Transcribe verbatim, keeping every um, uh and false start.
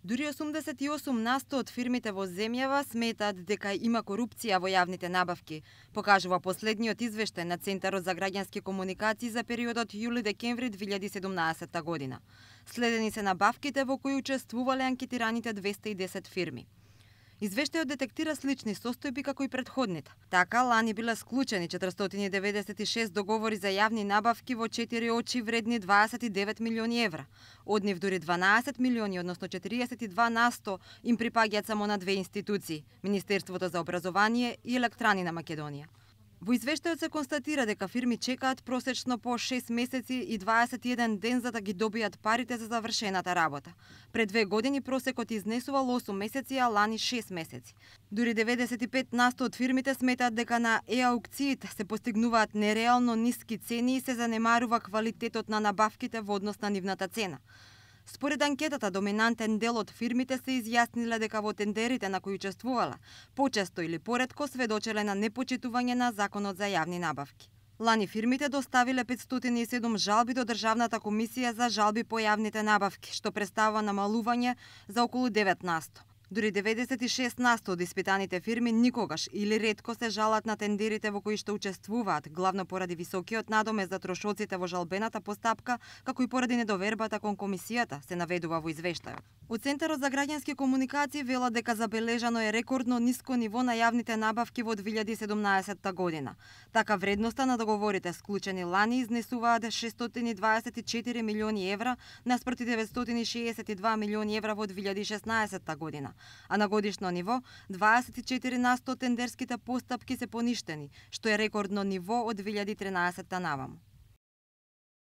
Дури осумдесет и осум на сто од фирмите во земјава сметаат дека има корупција во јавните набавки, покажува последниот извештај на Центарот за граѓански комуникации за периодот јули-декември две илјади и седумнаесетта година. Следени се набавките во кои учествувале анкетираните двесте и десет фирми. Извештајот детектира слични состојби како и претходните. Така, лани биле склучени четиристотини и деветдесет и шест договори за јавни набавки во четири очи вредни дваесет и девет милиони евра. Од нив дури дванаесет милиони, односно четириесет и два на сто, им припаѓаат само на две институции – Министерството за образование и Електрани на Македонија. Во извештајот се констатира дека фирми чекаат просечно по шест месеци и дваесет и еден ден за да ги добијат парите за завршената работа. Пред две години просекот изнесувал осум месеци, а лани шест месеци. Дури деветдесет и пет на сто од фирмите сметаат дека на е-аукциите се постигнуваат нереално ниски цени и се занемарува квалитетот на набавките во однос на нивната цена. Според анкетата, доминантен дел од фирмите се изјасниле дека во тендерите на кои учествувала, почесто или поретко сведочеле на непочитување на Законот за јавни набавки. Лани фирмите доставиле петстотини и седум жалби до Државната комисија за жалби по јавните набавки, што представува намалување за околу девет на сто. Дури деветдесет и шест на сто од испитаните фирми никогаш или ретко се жалат на тендерите во кои што учествуваат, главно поради високиот надомест за трошоците во жалбената постапка, како и поради недовербата кон комисијата, се наведува во извештајот. Од Центарот за граѓански комуникации велат дека забележано е рекордно ниско ниво на јавните набавки во две илјади и седумнаесетта година. Така вредноста на договорите склучени лани изнесуваат шестстотини дваесет и четири милиони евра наспроти деветстотини шеесет и два милиони евра во две илјади и шеснаесетта година. А на годишно ниво дваесет и четири на сто тендерските постапки се поништени, што е рекордно ниво од две илјади и тринаесетта наваму.